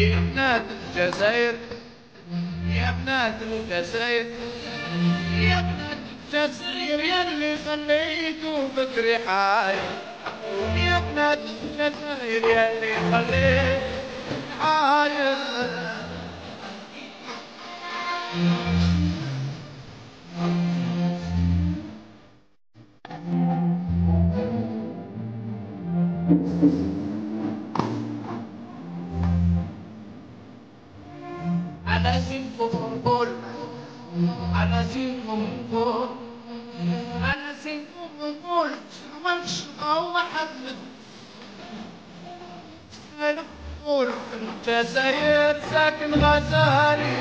يا بنات الجزائر يا بنات الجزائر يا بنات الجزائر يلي خليتو بكري حاير يا بنات الجزائر يلي خليتو حاير أنا سيفهم نقول أنا سيفهم نقول أنا سيفهم نقول مش هو حد أنا نقول الجزائر ساكن غزالي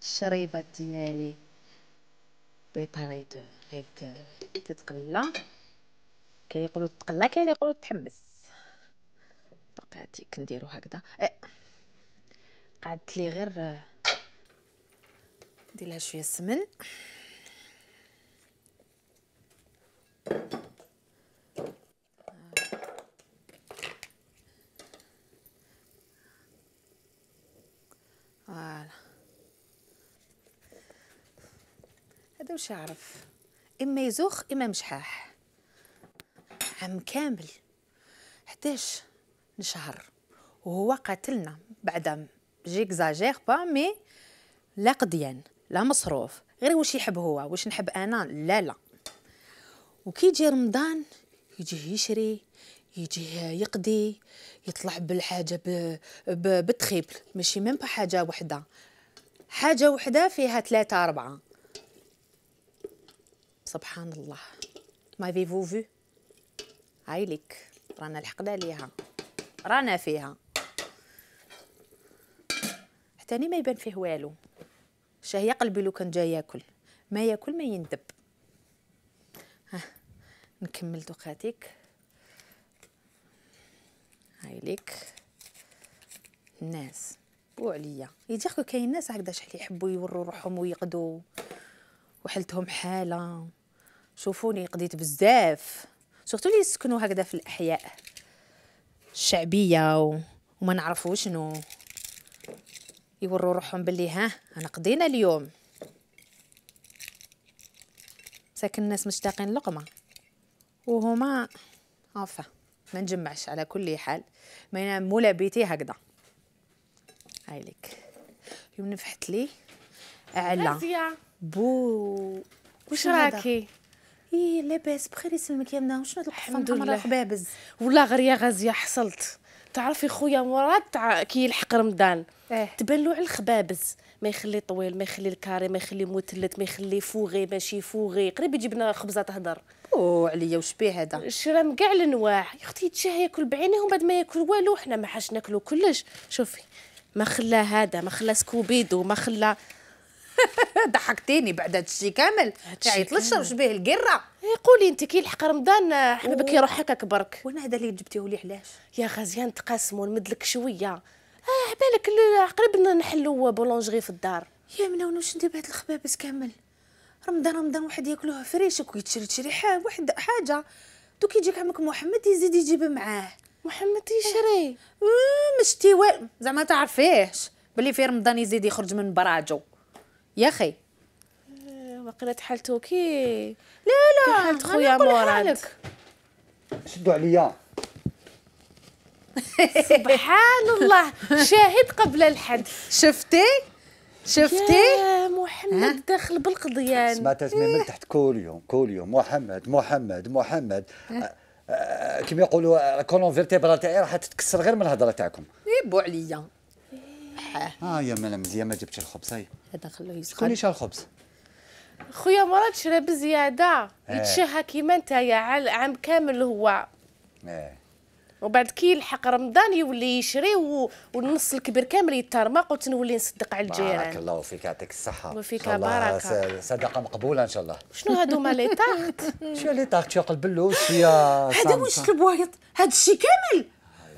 الشريبات ديالي بريباري دو هيك تتقلى، كاين يقولوا تقلى كاين يقولوا تحمس. باقي هاديك نديرو هكذا. قعدت لي غير ندير لها شويه السمن. فوالا هذا واش يعرف، اما يزوخ اما مشحاح. عام كامل 11 شهر وهو قاتلنا بعدا جيكزاجير با مي لا قديان لا مصروف، غير واش يحب هو واش نحب انا لا لا. وكي يجي رمضان يجي يشري يجي يقضي يطلع بالحاجه بتخيب، ماشي ميم با حاجه وحده فيها 3 4. سبحان الله. ما فيفو في هاي ليك رانا لحقنا ليها رانا فيها حتى ما يبان فيه والو. شهيه قلبي لو كان جاي ياكل ما ياكل ما يندب. ها نكمل دوقاتيك. هاي ليك الناس بو عليا يجيكو كاين ناس هكذا شحال يحبوا يوروا روحهم ويقضوا وحلتهم حاله. شوفوني قضيت بزاف سورتو اللي يسكنوا هكذا في الاحياء الشعبيه وما نعرفوا شنو يوروا روحهم باللي ها انا قضينا اليوم. ساكن الناس مشتاقين لقمه وهما عفا ما نجمعش. على كل حال ما ينام مولا بيتي هكذا. هاي لك يوم نفحت لي اعلى بو واش راكي؟ ايه لاباس بخير يسلمك يا منى. وشنو هاد القفه حمرا خبابز؟ والله غير يا غازيه حصلت. تعرفي خويا مراد كي يلحق رمضان تبان له على الخبابز، ما يخلي طويل ما يخلي الكاري ما يخلي مثلث ما يخلي فوغي ماشي فوغي، قريب يجيب لنا خبزه تهدر. او عليا واش بيه هذا؟ شرا كاع الانواع يا اختي. يتشهى ياكل بعينيه وبعد ما ياكل والو. حنا ما حاش ناكلو كلش. شوفي ما خلا هذا ما خلا سكوبيدو ما خلا ضحكتيني بعد هذا الشيء كامل. يعيط واش بيه القره؟ قولي انت كي يلحق رمضان حبك يروح هكاك برك. وانا هذا اللي جبتيه لي علاش؟ يا غازيه نتقاسموا نمدلك شويه. عبالك قريب نحلوا بولونجري في الدار. يا منى واش ندير بهاد الخبابز كامل؟ رمضان واحد ياكلوها فريشك ويتشري واحد حاجه. دوك يجيك عمك محمد يزيد يجيب معاه. محمد يشري مشتي زعما تعرفيهش بلي في رمضان يزيد يخرج من براجو يا اخي. وقيله حالته كي لا حالت خويا مراد. شدوا عليا. سبحان الله شاهد قبل الحد. شفتي يا محمد داخل بالقضيان. سمعت اسمي من تحت كل يوم محمد كيما يقولوا الكولون فيرتيبرال تاعي راح تتكسر غير من الهضره تاعكم. يبو عليا. يا مالا مزيان ما جبتش الخبز. هاي هذا خلوه يسخن. شكون اللي شا الخبز؟ خويا مراد شرا بزياده يتشهى كيما نتايا عام كامل هو. وبعد كي يلحق رمضان يولي يشري والنص الكبير كامل يترمق وتنولي نصدق على الجيران. بارك الله فيك يعطيك الصحة. وفيك بركة. صدقة مقبولة إن شاء الله. شنو هادوما لي طاغت؟ شنو لي طاغت؟ شو قلب اللوز شوية هذا واش البوايض؟ هاد الشيء كامل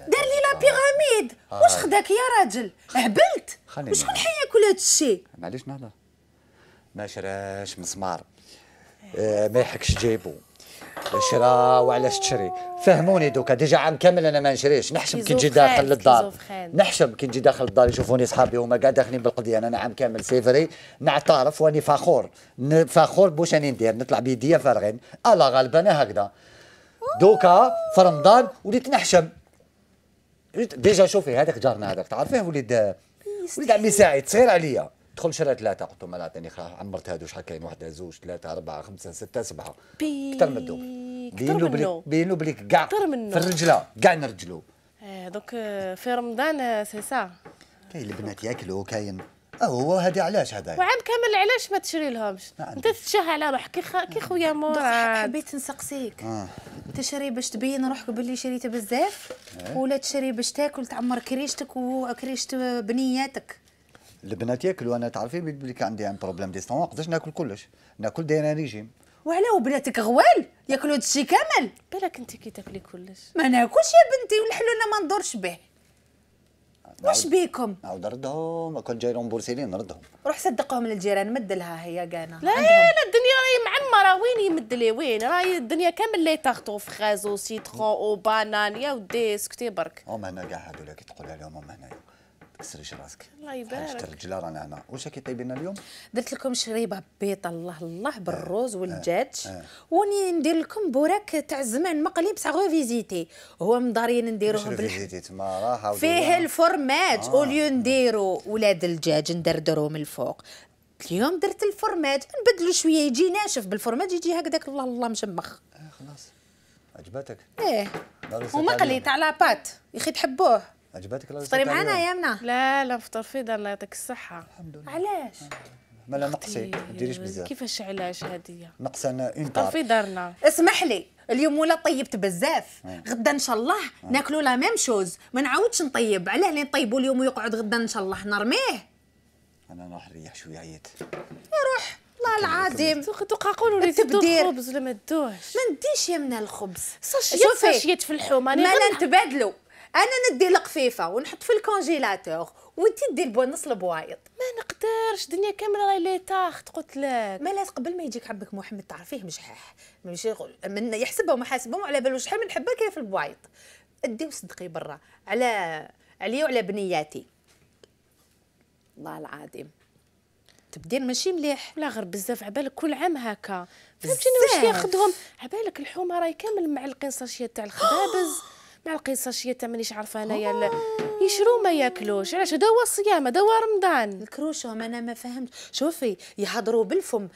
دار لي لا بيراميد. واش خداك يا راجل؟ هبلت. وشكون حياكل هاد الشيء؟ معليش نهضر. ما شراش مسمار ما يحكش جيبو شرا وعلاش تشري؟ فهموني دوكا، ديجا عام كامل انا ما نشريش، نحشم كي نجي داخل للدار، نحشم كي نجي داخل الدار يشوفوني صحابي هما كاع داخلين بالقضيه، انا عام كامل سيفري نعترف واني فخور بوش راني ندير، نطلع بيديا فارغين، الله غالب انا هكذا. دوكا في رمضان وليت نحشم. ديجا شوفي هذاك جارنا هذاك تعرفيه وليد عمي سعيد صغير عليا، دخل شرا 3 قلت له مال عطيني عمرت هادو شحال كاين 1 2 3 4 5 6 7 كثر من دوك. بين له بليك كاع في الرجله كاع نرجلو. دوك في رمضان سي سا كاين البنات ياكلوا كاين هو هذه علاش هذا وعام كامل علاش ما تشري لهمش؟ انت تتشهى على روحك كي خويا مراد. حبيت نسقسيك تشري باش تبين روحك باللي شريت بزاف ولا تشري باش تاكل تعمر كريشتك وكريشة بنياتك؟ البنات ياكلوا، انا تعرفي بلي عندي ان بروبليم ديستون، ما نقدرش ناكل كلش، ناكل دايره ريجيم. وعلاه وبناتك غوال ياكلوا هادشي كامل؟ بالك انت كي تاكلي كلش. ما ناكلش يا بنتي والحلو انا ما ندورش به. واش بيكم؟ نعاود نردهم، كون جاي رومبورسيلين نردهم. روح صدقهم للجيران، مد لها هي كانا. لا الدنيا راهي معمره، وين يمد لي وين؟ راهي الدنيا كامل لي تاغطو فخاز وسيترون وبانان يا ودي اسكتي برك. هما هنا كاع هذولا كي تقول عليهم هما هنايا تكسريش راسك. الله يبارك. حاجه الرجله رانا هنا. واش راكي طيبين اليوم؟ درت لكم شريبه بيضه الله بالروز والدجاج وني ندير لكم بوراك تاع الزمان مقلي بصح غو فيزيتي، هو مدارين نديروه بالفيزيتي تما راحه فيه الفورماج اوليو نديرو ولاد الدجاج ندردرو من الفوق. اليوم درت الفورماج نبدلو شويه يجي ناشف، بالفورماج يجي هكذاك الله مشمخ. خلاص عجبتك؟ ومقلي تاع لاباط يا اخي تحبوه. عجبتك؟ فطري معنا يا منى. لا نفطر في دار الله يعطيك الصحه. الحمد لله. علاش؟ مالا نقصي ما ديريش بزاف. كيفاش علاش هاديه؟ نقص انا اون طار في دارنا. اسمح لي اليوم ولا طيبت بزاف، غدا ان شاء الله ناكلوا لا ميم شوز، ما نعاودش نطيب. علاه اللي نطيبوا اليوم ويقعد غدا ان شاء الله نرميه؟ انا نروح نريح شويه عييت. روح والله العظيم تقاقولوا لي تدو الخبز ولا ما تدوش؟ ما نديش يا منى الخبز، ساشيات في اللحوم. انا نتبادلوا، انا ندي القفيفه ونحط في الكونجيلاتور وانت دير نص البوايض. ما نقدرش الدنيا كامله راهي لي طاخت قلت لك. مالا قبل ما يجيك عمك محمد تعرفيه مجحاح ماشي من يحسبهم وحاسبهم على بالو شحال من حبه كاين في البوايض. ادي وصدقي برا عليا وعلى بنياتي والله العظيم تبدير ماشي مليح. لا غير بزاف عبالك كل عام هكا فهمتيني واش ياخذهم عبالك الحومه راهي كامل معلقين ساشيات تاع الخبابز معلقين ساشيات تاع مانيش عارفه انايا يشرو ما ياكلوش. علاش هذا هو الصيام هذا هو رمضان. الكروشهم انا ما فهمت. شوفي يهضروا بالفم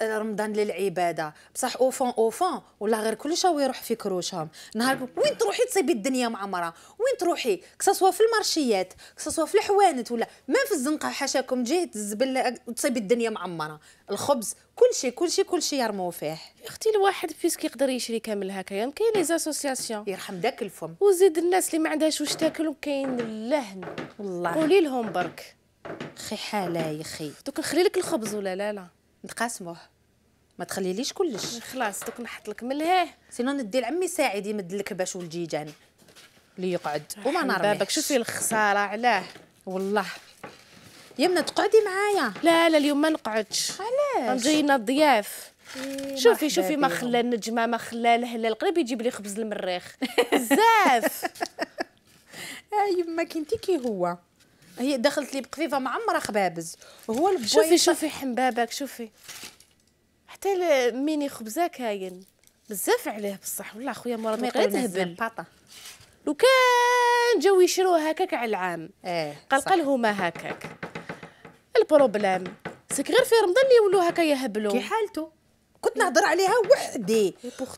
رمضان للعباده بصح اوفون ولا غير كل شيء يروح في كروشهم. نهار وين تروحي تصيبي الدنيا معمره، وين تروحي كسوا في المارشيات كسوا في الحوانت ولا ما في الزنقه حاشاكم جهه الزبل تصيبي الدنيا معمره. الخبز كل شيء يرموا فيه. يا اختي الواحد فيسك يقدر يشري كامل هكايا. كاين لي زاسوسياسيون يرحم داك الفم وزيد الناس اللي ما عندهاش واش تاكل وكاين اللهن والله. قولي لهم برك خي حاله يا خي. دوك نخلي لك الخبز ولا لا نتقاسموه ما تخليليش كلش. خلاص دوك نحط لك من لهيه سينو ندي لعمي ساعد يمد لك باش والجيجان اللي يقعد وما نرميش. بابك شوفي الخساره علاه والله. يمنا تقعدي معايا. لا اليوم ما نقعدش. علاش؟ جايين الضياف. شوفي ما خلى النجمه ما خلى الهلال قريب يجيب لي خبز المريخ بزاف. يما كنتي كي هو هي دخلت لي بقفيفه معمره خبابز وهو البوايض. شوفي حنبابك شوفي حتى ميني خبزه كاين بزاف عليه بصح والله خويا مراد ما يقدر يهبل. لو كان جاو يشروه هكاك على العام قلقل هما هكاك. البروبليم سيك غير في رمضان اللي يولوا هكا يهبلوا. كي حالته كنت نهضر عليها وحدي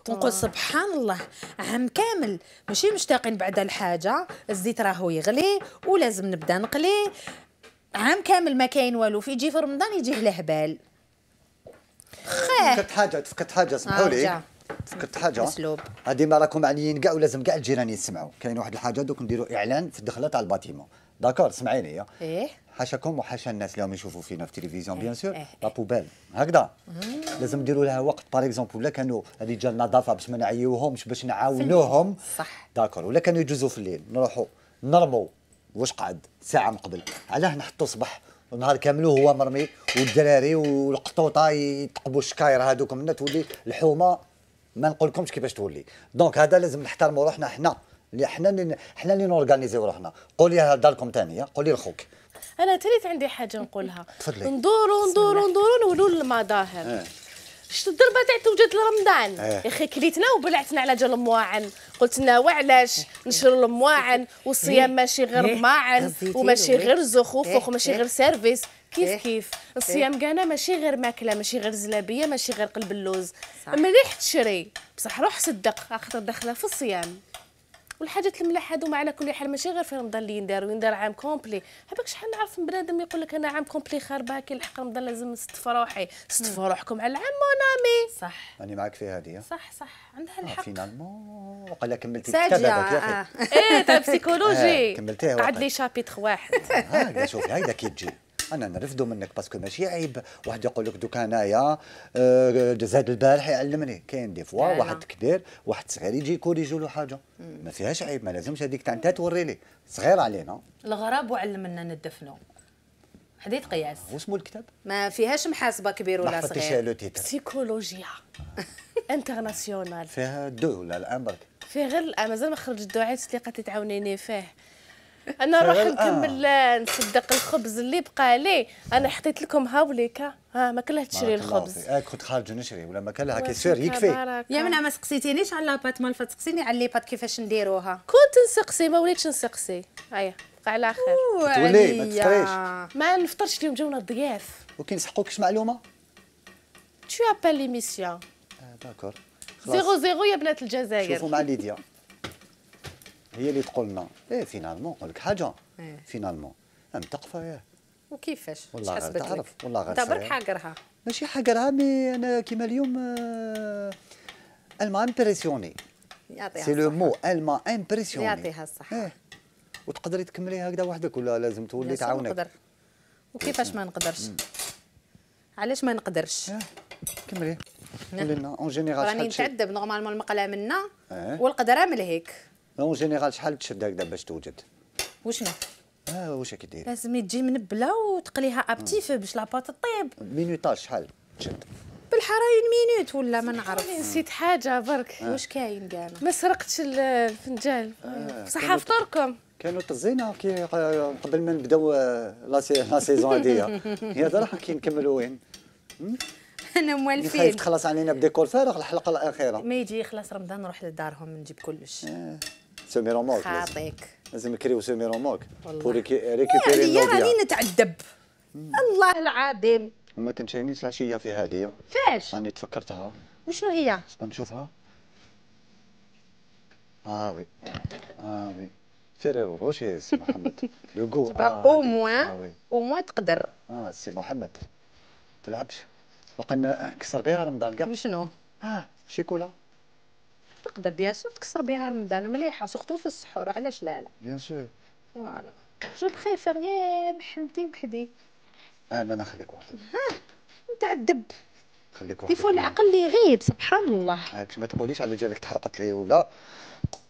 ونقول سبحان الله عام كامل ماشي مشتاقين بعد الحاجه. الزيت راهو يغلي ولازم نبدا نقلي. عام كامل ما كاين والو في يجي في رمضان يجيه الهبال. تفكرت حاجه اسمحوا لي تفكرت حاجه اسلوب هذه ما راكم معنيين كاع ولازم كاع الجيران يسمعوا. كاين واحد الحاجه دوك نديروا اعلان في الدخله تاع الباتيمون داكور سمعيني حاشاكم وحاشا الناس اللي راهم يشوفوا فينا في التلفزيون بيان سور لا بوبال هكذا لازم نديروا لها وقت باغ اكزومبل ولا كانوا رجال النظافه باش ما نعيوهمش باش نعاونوهم صح داكور ولا كانوا يجوزوا في الليل نروحوا نرموا واش قعد ساعه من قبل علاه نحطوا صباح ونهار كامل هو مرمي والدراري والقطوطه يتقبوا الشكاير هذوك منا تولي الحومه ما نقولكمش كيفاش تولي. دونك هذا لازم نحترموا روحنا حنا، اللي حنا اللي نورغانيزيو روحنا. قولي هذا لكم ثاني، قولي لخوك. انا تريت عندي حاجه نقولها. تفضلي. ندوروا نولوا للمظاهر. شتو الضربه تاع توجد لرمضان يا اخي، كليتنا وبلعتنا على جال المواعن. قلت لنا وعلاش نشروا المواعن والصيام ماشي غير مواعن وماشي غير زخوف وماشي غير سيرفيس. كيف الصيام كانا ماشي غير ماكله، ماشي غير زلابيه، ماشي غير قلب اللوز. مليح تشري بصح روح صدق خاطر داخله في الصيام. والحاجات الملاح هادو على كل حال ماشي غير في رمضان اللي يندار عام كومبلي. هباك شحال نعرف من بنادم يقول لك انا عام كومبلي خاربه كي نلحق رمضان لازم نستف روحي. استفوا روحكم على العام مونامي. صح راني معاك في هذه. صح عندها الحق. فينالمون وقال لك كملتي الكتاب هذاك يا اخي. ايه تاع بسيكولوجي كملتيه. قعد لي شابيتر واحد. هاكا شوفي هيدا كي تجي انا نرفدو منك باسكو ماشي عيب واحد يقول لك دوك انايا زاد البارح يعلمني. كاين دي فوا واحد كبير واحد صغير يجي يكوريجو له حاجه ما فيهاش عيب. ما لازمش هذيك تاع انت توري لي صغير علينا. الغراب وعلمنا ندفنوا حديت قياس. واسمو الكتاب ما فيهاش محاسبه كبير ولا صغير. بسيكولوجيا انترناسيونال. فيها دو ولا الان برك؟ فيه غير مازال ما خرج الدعاء اللي قد تعاونيني فيه. انا نروح نكمل نصدق الخبز اللي بقى لي. انا حطيت لكم هاوليكا. ما كلها تشري الخبز. كنت خارج نشري ولا ما كلها كيسير يكفي. يا منى ما سقسيتينيش على لاباط مال تسقسيني على لي بات كيفاش نديروها. كنت نسقسي ما وليتش نسقسي. هيا بقى على خير. تولي ما تفطريش. ما نفطرش اليوم جونا الضياف. وكي نسحقوكش معلومه تو ابال ليميسيون. داكور 00 يا بنات الجزائر. شوفوا مع ليديا هي اللي تقول لنا فينالمون نقول لك حاجه. فينالمون متقفه ياه. وكيفاش والله غير حسبت تعرف لك والله غير انت برك حاقرها. ماشي حاقرها مي انا كيما اليوم الما امبرسيوني. يعطيها سي لو مو الما امبرسيوني. يعطيها الصحه. وتقدري تكملي هكذا وحدك ولا لازم تولي تعاونك؟ نقدر. وكيفاش ما نقدرش؟ علاش ما نقدرش؟ كملي قولي لنا اون جينيرال شحال راني نتعذب نورمالمون المقله منا والقدره والقدره من هيك. اون جينيرال شحال تشد هكذا باش توجد؟ وشنو؟ واش راكي ديري؟ لازم تجي منبله وتقليها ابتيف باش لاباط طيب. مينوطاج شحال تشد؟ بالحرا 1 مينوت ولا ما نعرف. نسيت حاجه برك. واش كاين كاع؟ ما سرقتش الفنجان. بصح فطركم. كانوا طزينا كي قبل ما نبداو لا سيزون هذيا. هي هذا راح كي نكملوا وين؟ انا موالفين. خايف تخلص علينا بديكور فارغ الحلقه الاخيره. ما يجي يخلص رمضان نروح لدارهم نجيب كلش. سومي روموك خاطيك. لازم نكريو سومي روموك بور ريكيبيري النوديا. راني نتعذب الله العظيم. وما تنسانيش العشيه في هذه. فاش؟ راني تفكرتها. وشنو هي؟ نشوفها. وي وي فيريرو روشي سي محمد لو جو. او موان تقدر. سي محمد تلعبش وقنا كسر بها رمضان كاع. وشنو؟ شيكولا تقدر بيان سور تكسر بها رمضان مليحه سورتو في السحور. علاش لا؟ بيان سور. فوالا جو بريفير يا محمدي وحدي. انا نخليك وحدك. نتعذب. خليك وحدك. ديفو العقل اللي يغيب سبحان الله. ما تقوليش على جالك تحرقت لي ولا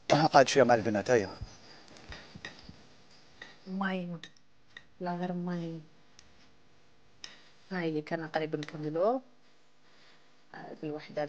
قاعد شويه مع البنات. هيا ماين لا غير ماين. هاي كان قريب نكملو بالوحده.